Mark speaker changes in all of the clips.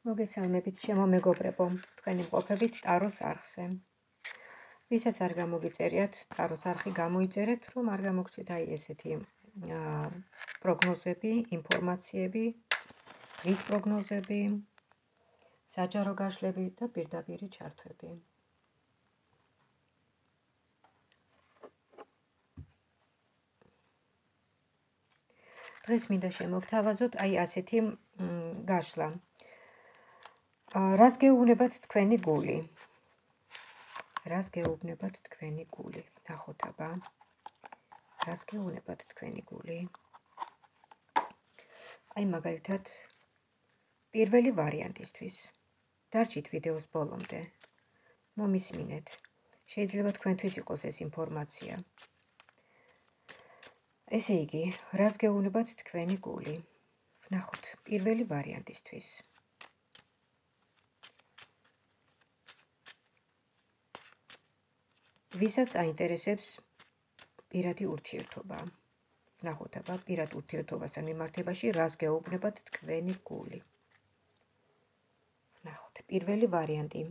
Speaker 1: მოგესალმებით ჩემო მეგობრებო, თქვენი მყოფებით ტაროს არხზე. ვისაც არ გამოგიწერიათ ტაროს არხი გამოიწერეთ, რომ არ გამოგჩეთ აი ესეთი პროგნოზები, ინფორმაციები, რის პროგნოზები, საჯარო გაშლები და პირდაპირი ჩართვები. დღეს მინდა შემოგთავაზოთ აი ასეთი გაშლა. რას გეუბნებათ თქვენი გული? რას გეუბნებათ თქვენი გული? ნახოთ აბა. რას გეუბნებათ თქვენი გული? აი მაგალითად პირველი ვარიანტისთვის. დარჩით ვიდეოს ბოლომდე. მომისმინეთ. შეიძლება თქვენთვის იყოს ეს ინფორმაცია. ესე იგი, რას გეუბნებათ თქვენი გული? ვნახოთ პირველი ვარიანტისთვის. ვისაც აინტერესებს პირადი ურთიერთობა. ვნახოთ აბა პირად ურთიერთობასთან მიმართებაში რას გეუბნებათ თქვენი გული. ვნახოთ პირველი ვარიანტი.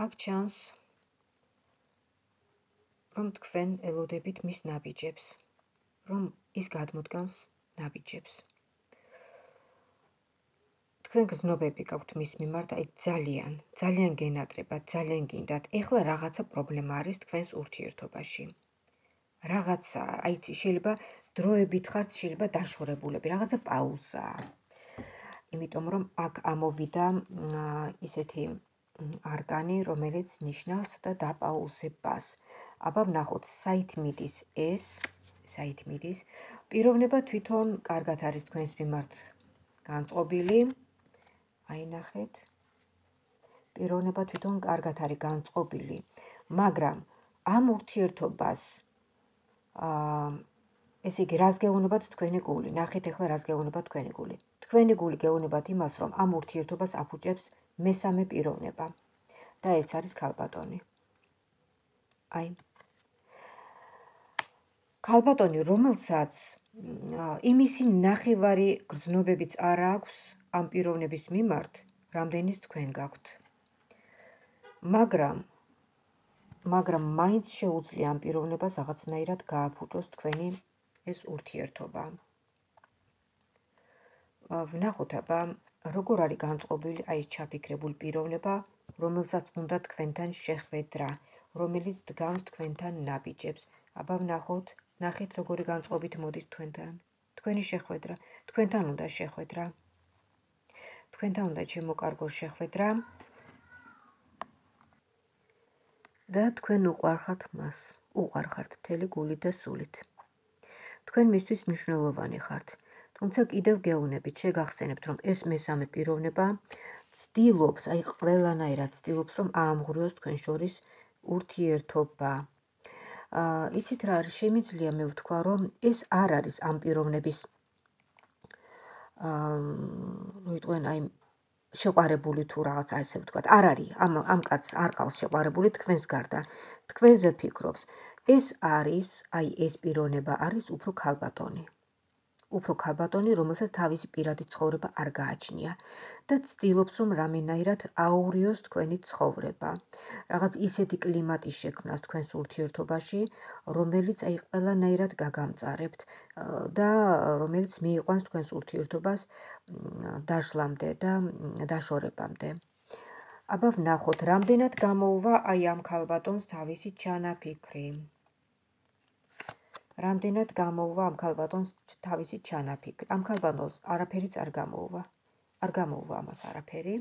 Speaker 1: აქ ჩანს, რომ თქვენ ელოდებით მის ნაბიჯებს, რომ ის გადმოდგამს ნაბიჯებს. თქვენ გზნობები გაქვთ მის მიმართ, აი ძალიან გენატრებათ, ძალიან გინდათ. ეხლა რაღაცა პრობლემა არის თქვენს ურთიერთობაში. რაღაცა, აი შეიძლება დროებით ხართ, შეიძლება დაშორებულები, რაღაცა პაუზაა. იმიტომ რომ აქ ამოვიდა ისეთი არგანი, რომელიც ნიშნავს და დაპაუზებას. აბა ვნახოთ, საით მიდის ეს, საით მიდის. პიროვნება თვითონ კარგად არის თქვენს მიმართ განწყობილი. აი ნახეთ. პიროვნება თვითონ კარგად არის განწყობილი, მაგრამ ამ ურთიერთობას ესე იგი, რას გეუბნებათ თქვენი გული? ნახეთ ახლა რას გეუბნებათ თქვენი გული. თქვენი გული გეუბნებათ იმას, რომ ამ ურთიერთობას აფუჭებს მესამე პიროვნება და ეს არის ქალბატონი. აი. ქალბატონი, რომელსაც იმისი ნახევარი გრძნობებიც არ აქვს ამ პიროვნების მიმართ, რამდენიც თქვენ გაქვთ. მაგრამ მაინც შეუძლია ამ პიროვნებას რაღაცნაირად გააფუჭოს თქვენი ეს ურთიერთობა. ვნახოთ აბა, როგორ არის განწყობილი აი ეს ჩაფიქრებული პიროვნება, რომელსაც უნდა თქვენთან შეხვედრა, რომელიც დგამს თქვენთან ნაბიჯებს. აბა ნახეთ როგორი განწყობით მოდის თქვენთან. თქვენი შეხვედრა, თქვენთან უნდა შეხვედრა. თქვენთან უნდა შემოკარგოს შეხვედრა. და თქვენ უყვარხართ მას, უყვარხართ მთელი გულით და სულით. თქვენ მისთვის მნიშვნელოვანი ხართ, თუმცა კიდევ გეუბნებით, შეგახსენებთ, რომ ეს მესამე პიროვნება ცდილობს, აი ყველანაირად ცდილობს, რომ აამღვრიოს თქვენ შორის ურთიერთობა. იცით რა არის, შემიძლია მე ვთქვა, რომ ეს არ არის ამ პიროვნების როიტყვენ აი შეყვარებული თუ რაღაც ასე ვთქვათ, არ არის ამ კაცს არ ყავს შეყვარებული თქვენს გარდა. თქვენზე ფიქრობს. ეს არის, აი ეს პიროვნება არის უფრო ქალბატონი. უფრო ქალბატონი, რომელსაც თავისი პირადი ცხოვრება არ გააჩნია და ცდილობს, რომ რამენაირად აურიოს თქვენი ცხოვრება. რაღაც ისეთი კლიმატი შექმნას თქვენს ურთიერთობაში, რომელიც აი ყველანაირად გაგამწარებთ და რომელიც მიიყვანს თქვენს ურთიერთობას დაშლამდე და დაშორებამდე. აბა ვნახოთ, რამდენად გამოუვა აი ამ ქალბატონს თავისი ჩანაფიქრი. რამდენად გამოუვა ამ ქალბატონს თავისი ჩანაფიქრი. ამ ქალბატონს არაფერიც არ გამოუვა. არ გამოუვა ამას არაფერი.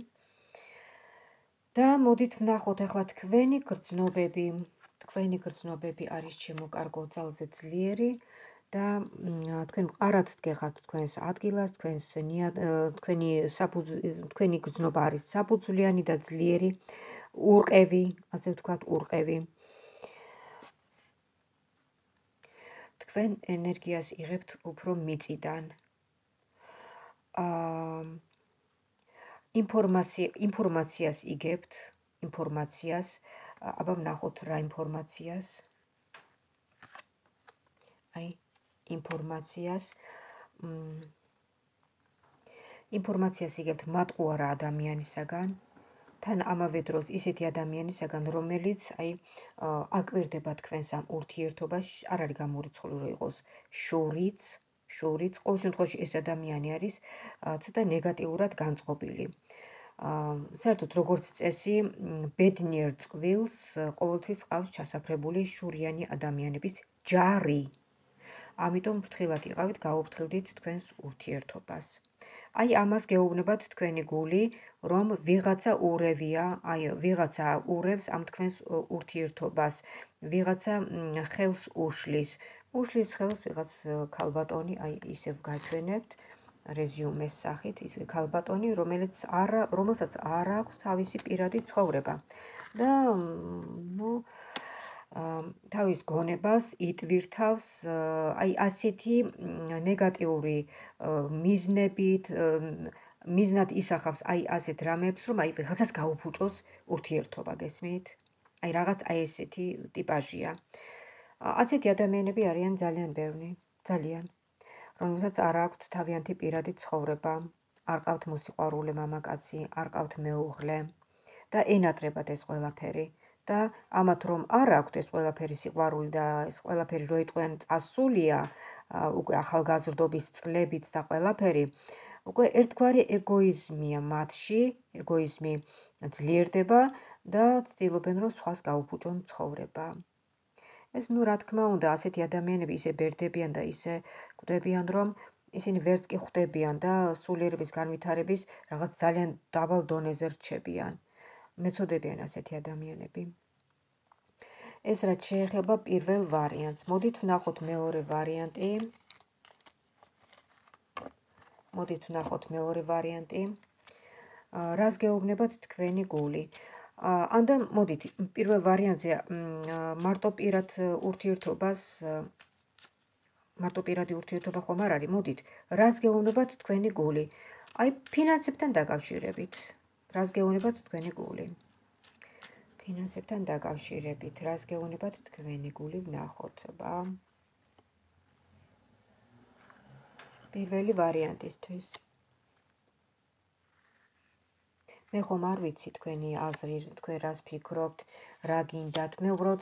Speaker 1: და მოდით ვნახოთ ახლა თქვენი გრძნობები. თქვენი გრძნობები არის ჩემო კარგო ძალზე ძლიერი და თქვენ მყარად დგეხართ თქვენს ადგილას, თქვენი გრძნობა არის საფუძვლიანი და ძლიერი, ურყევი, ასე ვთქვათ, ურყევი. თქვენ ენერგიას იღებთ უფრო მიწიდან. ინფორმაციას იგებთ, ინფორმაციას, აბა ვნახოთ რა ინფორმაციას. აი, ინფორმაციას იგებთ მატყუარა ადამიანისაგან, თან ამავე დროს ისეთი ადამიანისაგან, რომელიც აი აკვირდება თქვენს ამ ურთიერთობაში, არ არის გამორიცხული რომ იყოს შორიც, ყოველ შემთხვევაში ეს ადამიანი არის ცოტა ნეგატიურად განწყობილი. საერთოდ როგორც წესი, ბედნიერ წყვილს ყოველთვის ყავს ჩასაფრებული შურიანი ადამიანების ჯარი. ამიტომ ფრთხილად იყავით, გაუფრთხილდით თქვენს ურთიერთობას. აი ამას გეუბნებათ თქვენი გული, რომ ვიღაცა ურევია, აი ვიღაცა ურევს ამ თქვენს ურთიერთობას, ვიღაცა ხელს უშლის ხელს ვიღაც ქალბატონი, აი ისევ გაჩვენებთ რეზიუმეს სახით, ის ქალბატონი, რომელსაც არ აქვს თავისი პირადი ცხოვრება და თავის გონებას იტვირთავს აი ასეთი ნეგატიური მიზნებით, მიზნად ისახავს აი ასეთ რამებს, რომ აი ვიღაცას გაუფუჭოს ურთიერთობა, გესმით? აი რაღაც აი ესეთი ტიპაჟია. ასეთი ადამიანები არიან ძალიან ბევრი, ძალიან, რომელსაც არ აქვთ თავიანთი პირადი ცხოვრება, არ ყავთ მოსიყვარულე მამაკაცი, არ ყავთ მეუღლე და ენატრებათ ეს ყველაფერი. და ამათ რომ არ აქვთ ეს ყველაფერი სიყვარული და ეს ყველაფერი რო იტყვიან წასულია, უკვე ახალგაზრდობის წლებიც და ყველაფერი, უკვე ერთგვარი ეგოიზმია მათში, ეგოიზმი ძლიერდება და ცდილობენ რომ სხვას გაუფუჭონ ცხოვრება. ეს რა თქმა უნდა, ასეთი ადამიანები ისე ბერდებიან და ისე კვდებიან, რომ ისინი ვერც კი ხვდებიან და სულიერების განვითარების რაღაც ძალიან დაბალ დონეზე რჩებიან. მეწოდებიან ასეთი ადამიანები. ეს რაც შეეხება პირველ ვარიანტს. მოდით ვნახოთ მეორე ვარიანტი. რას გეუბნებათ თქვენი გული? ანდა მოდით პირველ ვარიანტზე მარტოპირადი ურთიერთობა ხომ არ არის? მოდით, რას გეუბნებათ თქვენი გული? აი ფინანსებთან დაკავშირებით. რას გეუბნებათ თქვენი გული? ფინანსებთან დაკავშირებით, რას გეუბნებათ თქვენი გული, ვნახოთ, პირველი ვარიანტისთვის. მე ხომ არ ვიცი თქვენი აზრი, თქვენ რას ფიქრობთ, რა გინდათ. მე უბრალოდ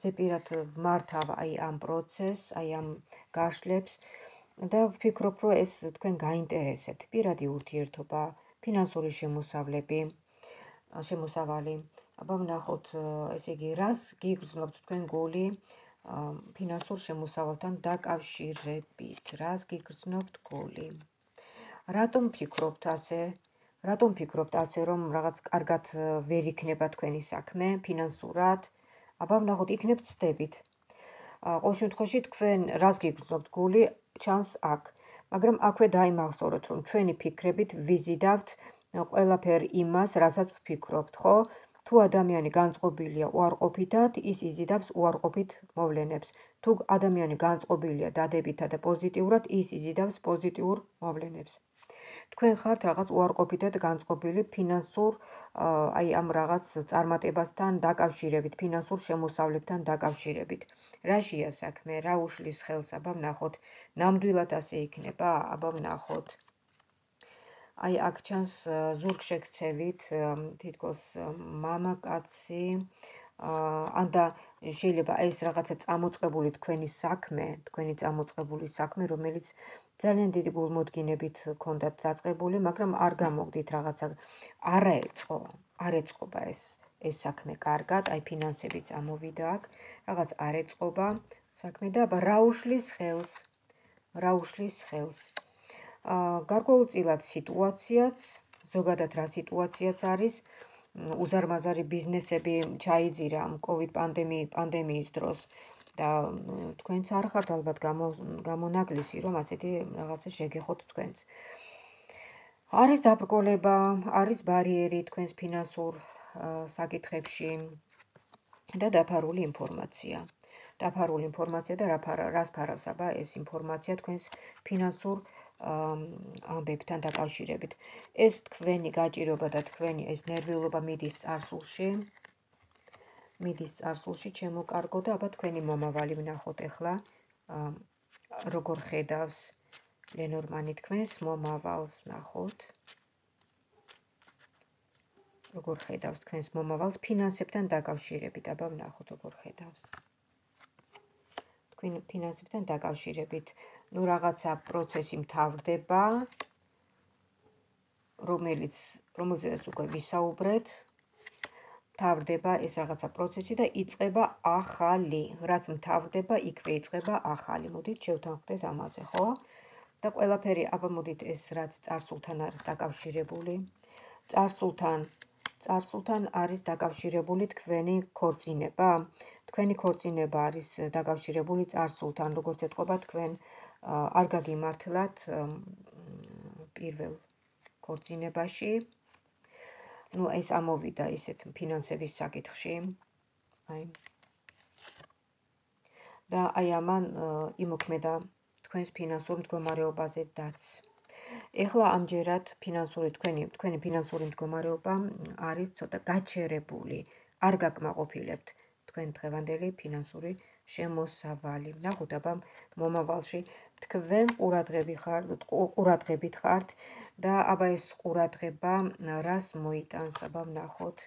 Speaker 1: ზეპირად ვმართავ აი ამ პროცესს, აი ამ გაშლებს და ვფიქრობ, რომ ეს თქვენ გაინტერესებთ. პირადი ურთიერთობა, ფინანსური შემოსავალი. აბა ვნახოთ, ესე იგი, რას გიგრძნობთ თქვენ გული ფინანსურ შემოსავალთან დაკავშირებით? რას გიგრძნობთ გული? რატომ ფიქრობთ ასე, რომ რაღაც კარგად ვერ იქნება თქვენი საქმე ფინანსურად? აბა ვნახოთ, იქნებ ცდებით. ყოველ შემთხვევაში თქვენ რას გიგრძნობთ გული ჩანს აქ, მაგრამ აქვე დაიმახსოვროთ, რომ ჩვენი ფიქრებით ვიზიდავთ ყველაფერ იმას, რასაც ვფიქრობთ, ხო? თუ ადამიანი განწყობილია უარყოფითად, ის იზიდავს უარყოფით მოვლენებს. თუ ადამიანი განწყობილია დადებითად და პოზიტიურად, ის იზიდავს პოზიტიურ მოვლენებს. თქვენ ხართ რაღაც უარყოფითად განწყობილი ფინანსურ აი ამ რაღაც წარმატებასთან დაკავშირებით, ფინანსურ შემოსავლებთან დაკავშირებით. რაშია საქმე, რა უშლის ხელს? აბა ვნახოთ, ნამდვილად ასე იქნება? აბა ვნახოთ. აი აქ ჩანს ზურგშექცევით, თითქოს მამაკაცი, ანდა შეიძლება ეს რაღაცა წამოწყებული თქვენი წამოწყებული საქმე, რომელიც ძალიან დიდი გულმოდგინებით ქონდათ დაწყებული, მაგრამ არ გამოგდით რაღაცა, არ ეწყობა ეს საქმე კარგად, აი ფინანსებიც ამოვიდა აქ, რაღაც არ ეწყობა საქმე და აბა რა უშლის ხელს? გარკვეულწილად სიტუაციაც, ზოგადად რა სიტუაციაც არის, უზარმაზარი ბიზნესები ჩაიძირა COVID პანდემიის დროს, და თქვენც არ ხართ ალბათ გამონაკლისი, რომ ასეთი რაღაცა შეგეხოთ თქვენც. არის დაბრკოლება, არის ბარიერი თქვენს ფინანსურ საკითხებში და დაფარული ინფორმაცია. დაფარული ინფორმაცია და რას ფარავს აბა ეს ინფორმაცია თქვენს ფინანსურ ამბებთან დაკავშირებით. ეს თქვენი გაჭირობა და თქვენი ეს ნერვიულობა მიდის წარსულში, ჩემო კარგო და აბა თქვენი მომავალი ვნახოთ ახლა, როგორ ხედავს ლენორმანი თქვენს მომავალს ვნახოთ. როგორ ხედავს თქვენს მომავალს ფინანსებთან დაკავშირებით, აბა ვნახოთ როგორ ხედავს. თქვენ ფინანსებთან დაკავშირებით, ნუ რაღაცა პროცესი მთავრდება, რომელზეც უკვე ვისაუბრეთ, მთავრდება ეს რაღაცა პროცესი და იწყება ახალი, რაც მთავრდება, იქვე იწყება ახალი. მოდით შევთანხმდეთ ამაზე, ხო? და ყველაფერი, აბა მოდით ეს რაც წარსულთან არის დაკავშირებული, წარსულთან არის დაკავშირებული თქვენი ქორწინება. თქვენი ქორწინება არის დაკავშირებული წარსულთან, როგორც ეთყობა თქვენ არ გაგიმართლათ პირველ ქორწინებაში. ნუ ეს ამოვიდა ისეთ ფინანსების საკითხში. და აი ამან იმოქმედა თქვენს ფინანსურ მდგომარეობაზე დაც. ეხლა ამჯერად თქვენი ფინანსური მდგომარეობა არის ცოტა გაჩერებული. არ გაკმაყოფილებთ თქვენ დღევანდელი ფინანსური შემოსავალი. ნახოთ აბა მომავალში თქვენ ყურადღებით ხართ და აბა ეს ყურადღება რას მოიტანს, აბა ვნახოთ.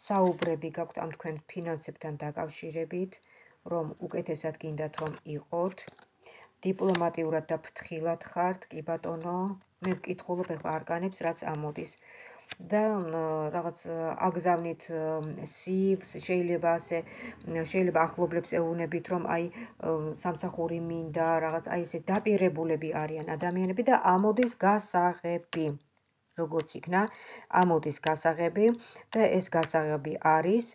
Speaker 1: საუბრები გაქვთ ამ თქვენ ფინანსებთან დაკავშირებით, რომ უკეთესად გინდათ რომ იყოთ. დიპლომატიურად და ფრთხილად ხართ, კი ბატონო, მე ვკითხულობ ახლა არკანებს, რაც ამოდის. და რაღაც აგზავნით სივს, შეიძლება ახლობლებს ეუბნებით, რომ აი სამსახური მინდა, რაღაც აი ესე დაპირებულები არიან ადამიანები და ამოდის გასაღები. როგორც იქნა, ამოდის გასაღები და ეს გასაღები არის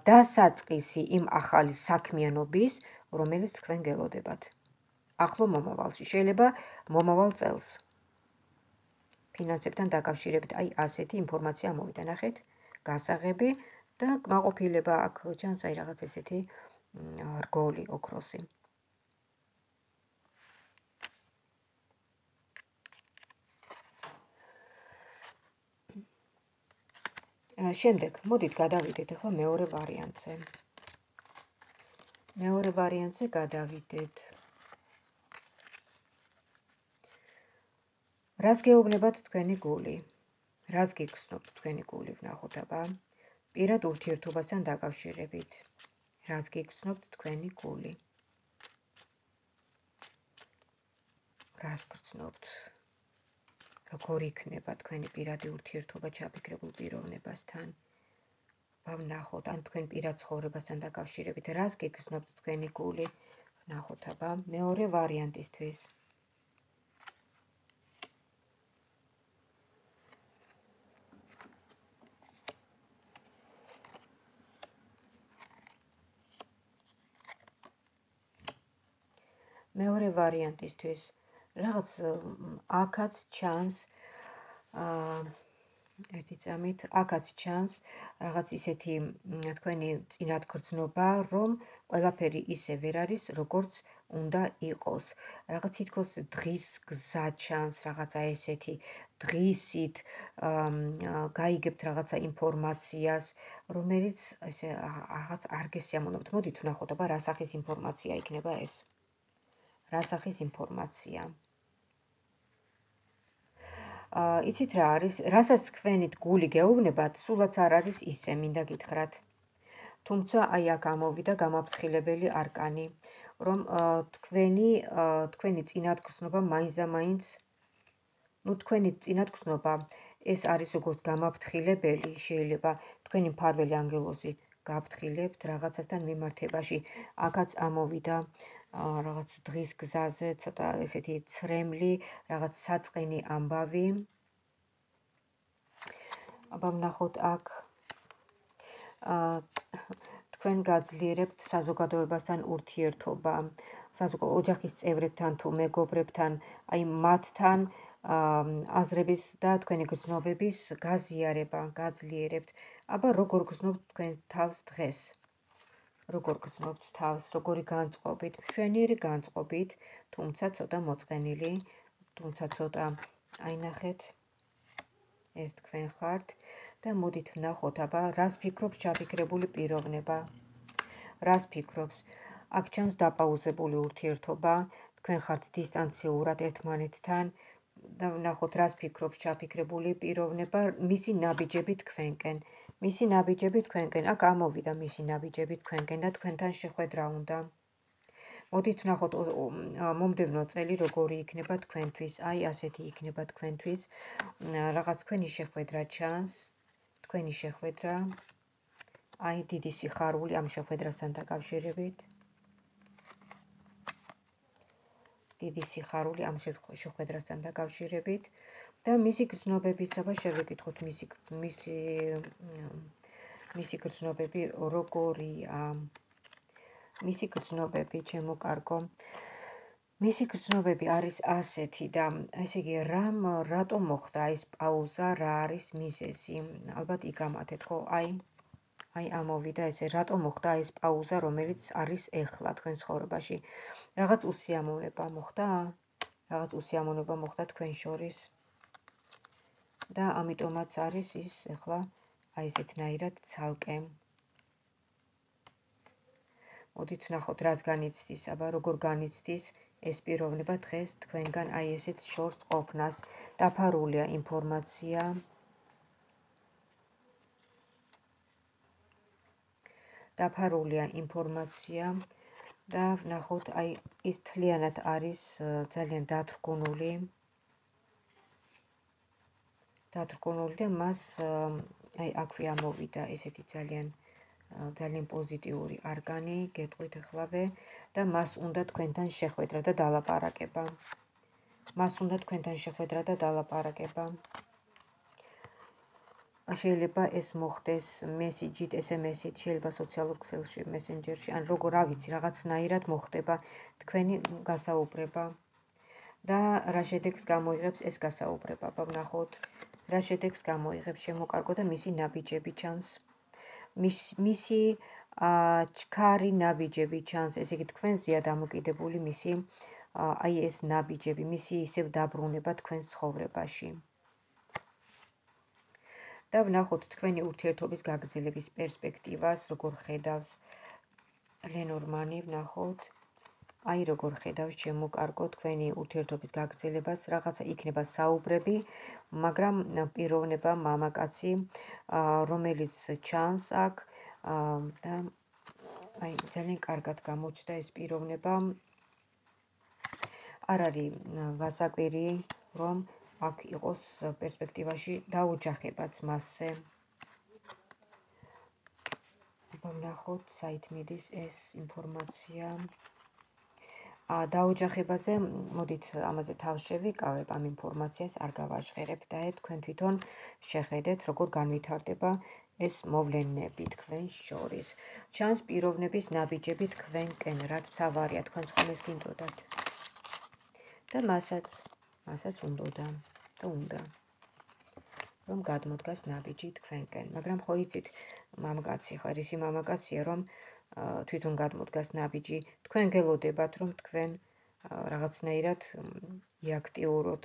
Speaker 1: დასაწყისი იმ ახალი საქმიანობის, რომელიც თქვენ გელოდებათ. ახლო მომავალში, შეიძლება მომავალ წელს. ფინანსებთან დაკავშირებით, აი ასეთი ინფორმაცია მოვიდა, ნახეთ, გასაღები და კმაყოფილება აქ ჩანს აი რაღაც ესეთი რგოლი, ოქროსი. შემდეგ, მოდით გადავიდეთ ახლა მეორე ვარიანტზე. მეორე ვარიანტზე გადავიდეთ. რას გეუბნებათ თქვენი გული? რას გიგრძნობთ თქვენი გული, ვნახოთ აბა. პირად ურთიერთობასთან დაკავშირებით. რას გიგრძნობთ თქვენი გული? რას გრძნობთ? როგორ იქნება თქვენი პირადი ურთიერთობა ჩაფიქრებულ პიროვნებასთან? ვნახოთ, ან თქვენ პირად ცხოვრებასთან დაკავშირებით, რას გიგრძნობთ თქვენი გული? ვნახოთ აბა, მეორე ვარიანტისთვის. მეორე ვარიანტისთვის რაღაც აქაც ჩანს ერთი წამით, აქაც ჩანს რაღაც ისეთი თქვენი წინათგრძნობა, რომ ყველაფერი ისე ვერ არის, როგორც უნდა იყოს. რაღაც თითქოს დღის გზა ჩანს, რაღაცა ესეთი დღისით გაიგებთ რაღაცა ინფორმაციას, რომელიც ესე რაღაც არ გესიამოვნებთ. მოდით ვნახოთ, აბა რა სახის ინფორმაცია იქნება ეს. რა სახის ინფორმაცია? იცით რა არის, რასაც თქვენით გული გეუბნებათ, სულაც არ არის ისე, მინდა გითხრათ. თუმცა აი აქ ამოვიდა გამაფრთხილებელი არკანი, რომ თქვენი წინათგრძნობა მაინც და მაინც, ნუ თქვენი წინათგრძნობა ეს არის როგორც გამაფრთხილებელი, შეიძლება თქვენი მფარველი ანგელოზი გაფრთხილებთ რაღაცასთან მიმართებაში. აქაც ამოვიდა რაღაც დღის გზაზე, ცოტა ესეთი ცრემლი, რაღაც საწყენი ამბავი. აბა ვნახოთ აქ თქვენ გაძლიერებთ საზოგადოებასთან ურთიერთობა, ოჯახის წევრებთან თუ მეგობრებთან, აი მათთან აზრების და თქვენი გრძნობების გაზიარება, გაძლიერებთ. აბა როგორ გრძნობთ თქვენ თავს დღეს? როგორ გრძნობთ თავს, როგორი განწყობით, მშვენიერი განწყობით, თუმცა ცოტა მოწყენილი, თუმცა ცოტა აი ნახეთ, ეს თქვენ ხართ და მოდით ვნახოთ, აბა რას ფიქრობს ჩაფიქრებული პიროვნება? რას ფიქრობს? აქ ჩანს დაპაუზებული ურთიერთობა, თქვენ ხართ დისტანციურად ერთმანეთთან და ვნახოთ რას ფიქრობს ჩაფიქრებული პიროვნება, მისი ნაბიჯები თქვენკენ. მისი ნაბიჯები თქვენკენ, აქ ამოვიდა მისი ნაბიჯები თქვენკენ და თქვენთან შეხვედრა უნდა. მოდით ვნახოთ მომდევნო წელი როგორი იქნება თქვენთვის, აი ასეთი იქნება თქვენთვის, რაღაც თქვენი შეხვედრა ჩანს, თქვენი შეხვედრა, აი დიდი სიხარული ამ შეხვედრასთან დაკავშირებით. დიდი სიხარული ამ შეხვედრასთან დაკავშირებით და მისი გრძნობებიც, აბა შევეკითხოთ მისი გრძნობები როგორია. მისი გრძნობები, ჩემო კარგო, მისი გრძნობები არის ასეთი და ესე იგი რატომ მოხდა ეს პაუზა, რა არის მიზეზი? ალბათ იგამათეთ, ხო? აი ამოვიდა ესე, რატომ მოხდა ეს პაუზა, რომელიც არის ეხლა თქვენ ცხოვრებაში? რაღაც უსიამოვნება მოხდა? რაღაც უსიამოვნება მოხდა თქვენ შორის? და ამიტომაც არის ის ეხლა აი ესეთნაირად ცალკე. მოდით ვნახოთ, რას განიცდის, აბა როგორ განიცდის ეს პიროვნება დღეს თქვენგან აი ესეთ შორს ყოფნას. დაფარულია ინფორმაცია. დაფარულია ინფორმაცია და ვნახოთ, აი ის თლიანად არის ძალიან დათრგუნული და მას აი აქვე ამოვიდა ესეთი ძალიან პოზიტიური არგანი, გეტყვით ახლავე და მას უნდა თქვენთან შეხვედრა და დალაპარაკება. შეიძლება ეს მოხდეს მესიჯით, SMS-ით, შეიძლება სოციალურ ქსელში, მესენჯერში, ან როგორ არ ვიცი, რაღაცნაირად მოხდება თქვენი გასაუბრება და რა შედეგს გამოიღებს ეს გასაუბრება. ვნახოთ, რა შედეგს გამოიღებს, შემოკარგო და მისი ნაბიჯები ჩანს. მისი ჩქარი ნაბიჯები ჩანს, ესე იგი თქვენზეა დამოკიდებული მისი აი ეს ნაბიჯები, მისი ისევ დაბრუნება თქვენს ცხოვრებაში. და ვნახოთ თქვენი ურთიერთობის გაგრძელების პერსპექტივას, როგორ ხედავს ლენორმანი, ვნახოთ. აი როგორ ხედავს, ჩემო კარგო, თქვენი ურთიერთობის გაგრძელებას, რაღაცა იქნება საუბრები, მაგრამ პიროვნება მამაკაცი, რომელიც ჩანს აქ და აი ძალიან კარგად გამოჩნდა ეს პიროვნება. არ არის გასაკვირი, რომ აქ იყოს პერსპექტივაში დაოჯახებაც მასზე. ვნახოთ, საით მიდის ეს ინფორმაცია. დაოჯახებაზე, მოდით ამაზე თავს შევიკავებ, ამ ინფორმაციას არ გავაჟღერებ და თქვენ თვითონ შეხედეთ, როგორ განვითარდება ეს მოვლენები თქვენ შორის. ჩანს პიროვნების ნაბიჯები თქვენკენ, რაც მთავარია, თქვენ ხომ ეს გინდოდათ. და მასაც უნდა რომ გადმოდგას ნაბიჯი თქვენკენ, მაგრამ ხო იცით, მამაკაცი ხარ, ისი მამაკაცია, რომ თვითონ გადმოდგას ნაბიჯი, თქვენ გელოდებათ, რომ თქვენ რაღაცნაირად იაქტიუროთ,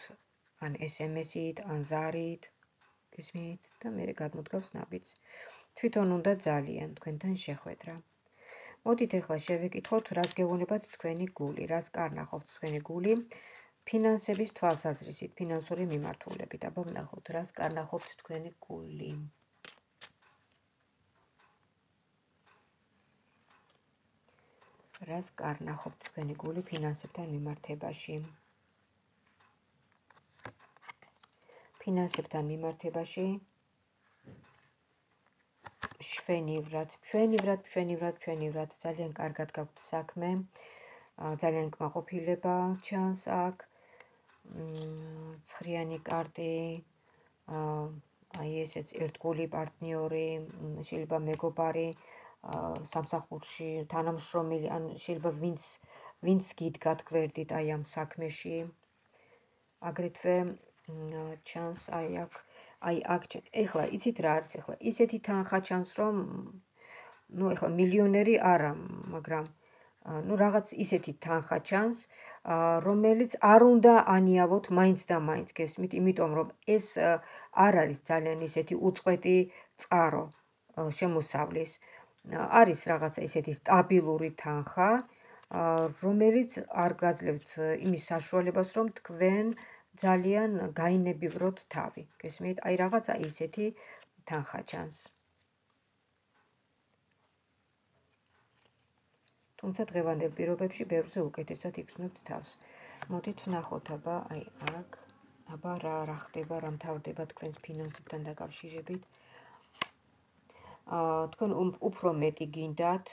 Speaker 1: ან SMS-ით, ან ზარით, გისმით, და მერე გადმოდგავს ნაბიჯს. თვითონ უნდა ძალიან თქვენთან შეხვედრა. მოდით ახლა შევეკითხოთ, რას გეუბნებათ თქვენი გული, რას კარნახობს თქვენი გული ფინანსების თვალსაზრისით, ფინანსური მიმართულებით. აბა ვნახოთ, რას კარნახობთ თქვენი გული. რას კარნახობთ თქვენი გული ფინანსებთან მიმართებაში. ფინანსებთან მიმართებაში მშვენივრად, ძალიან კარგად გაქვთ საქმე, ძალიან კმაყოფილება ჩანს აქ, ცხრიანი კარტი, აი ესეც ერთგული პარტნიორი, შეიძლება მეგობარი, სამსახურში თანამშრომელი, ან შეიძლება ვინც გიდგათ გვერდით აი ამ საქმეში. აგრეთვე ჩანს აი აქ ეხლა იცით რა არის ეხლა ისეთი თანხა ჩანს რომ ეხლა მილიონერი არა, მაგრამ რაღაც ისეთი თანხა ჩანს, რომელიც არ უნდა ანიავოთ მაინც და მაინც, გესმით, იმიტომ რომ ეს არ არის ძალიან ისეთი უწყვეტი წყარო შემოსავლის. არის რაღაცა ისეთი სტაბილური თანხა, რომელიც არ გაძლევთ იმის საშუალებას, რომ თქვენ ძალიან გაინებივროთ თავი, გესმით? აი რაღაცა ისეთი თანხა ჩანს. თუმცა დღევანდელ პირობებში ბევრზე უკეთესად იგრძნობთ თავს. მოდით ვნახოთ აბა აი აქ, აბა რა ხდება, რა მთავრდება თქვენს ფინანსებთან დაკავშირებით. თქვენ უფრო მეტი გინდათ,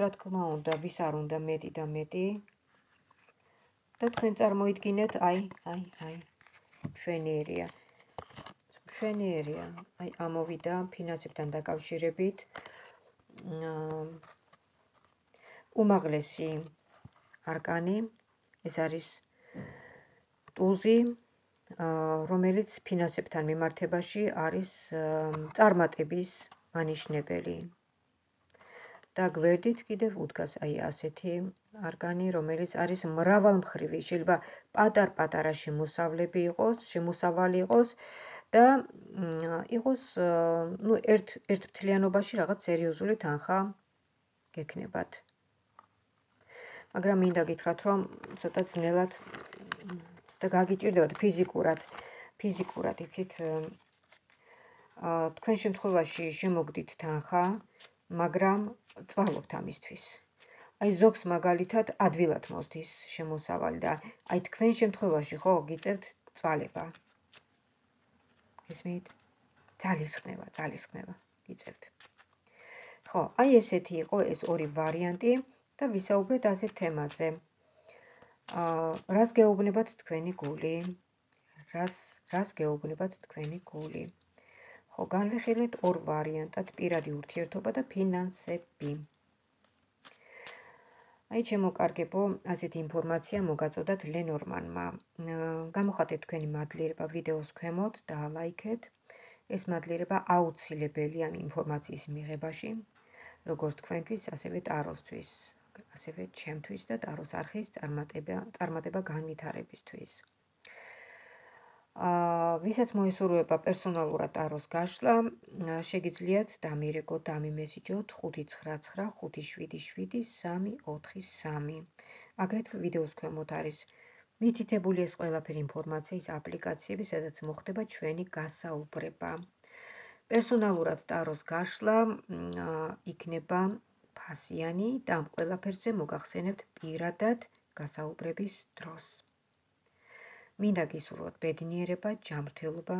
Speaker 1: რა თქმა უნდა, ვის არ უნდა მეტი და მეტი. და თქვენ წარმოიდგინეთ, აი, მშვენიერია. აი ამოვიდა ფინანსებთან დაკავშირებით. უმაღლესი არკანი, ეს არის ტულზი, რომელიც ფინანსებთან მიმართებაში არის წარმატების მანიშნებელი. და გვერდით კიდევ უდგას აი ასეთი არკანი, რომელიც არის მრავალმხრივი, შეიძლება პატარ-პატარა შემოსავალი იყოს და იყოს ერთფრთლიანობაში რაღაც სერიოზული თანხა გექნებათ. მაგრამ მინდა გითხრათ, რომ ცოტა ძნელად და გაგიჭირდებათ ფიზიკურად, იცით, თქვენ შემთხვევაში შემოგდით თანხა, მაგრამ წვალობთ ამისთვის. აი ზოგს მაგალითად ადვილად მოსდის შემოსავალი და აი თქვენ შემთხვევაში ხო გიწევთ წვალება. გესმით? ძალისხმევა გიწევთ. ხო, აი ესეთი იყო ეს ორი ვარიანტი და ვისაუბრეთ ასეთ თემაზე. რას გეუბნებათ თქვენი გული? რას გეუბნებათ თქვენი გული? ხო, განვიხილეთ ორ ვარიანტად პირადი ურთიერთობა და ფინანსები. აი შემოკარგებო, ასეთი ინფორმაცია მოგაწოდათ ლენორმანმა. გამოხატეთ თქვენი მადლიერება ვიდეოს ქვემოთ და ლაიქეთ. ეს მადლიერება აუცილებელია ამ ინფორმაციის მიღებაში, როგორც თქვენთვის, ასევე ტაროსთვის, ასევე ჩემთვის და ტაროს არხის წარმატება განვითარებისთვის. ვისაც მოესურვება პერსონალურად ტაროს გაშლა, შეგიძლიათ დამირეკოთ, დამიმესიჯოთ 599577343. აგრეთვე ვიდეოს ქვემოთ არის მითითებული ეს ყველაფერი ინფორმაციის აპლიკაციები, სადაც მოხდება ჩვენი გასაუბრება. პერსონალურად ტაროს გაშლა იქნება ფასიანი და ამ ყველაფერზე მოგახსენებთ პირადად გასაუბრების დროს. მინდა გისურვოთ ბედნიერება, ჯანმრთელობა.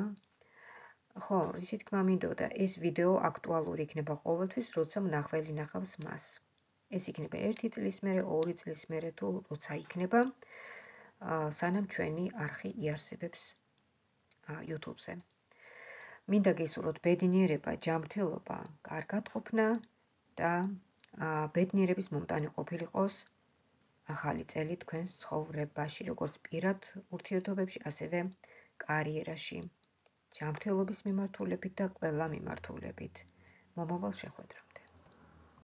Speaker 1: ხო, ისი თქმა მინდოდა, ეს ვიდეო აქტუალური იქნება ყოველთვის, როცა მნახველი ნახავს მას. ეს იქნება 1 წლის მერე, 2 წლის მერე თუ როცა იქნება, სანამ ჩვენი არხი იარსებებს YouTube-ზე. მინდა გისურვოთ ბედნიერება, ჯანმრთელობა, კარგად ყოფნა და ბედნიერების მომტანი ყოფილიყოს ახალი წელი თქვენს ცხოვრებაში, როგორც პირად ურთიერთობებში, ასევე კარიერაში. ჯანმრთელობის მიმართულებით და ყველა მიმართულებით. მომავალ შეხვედრამდე.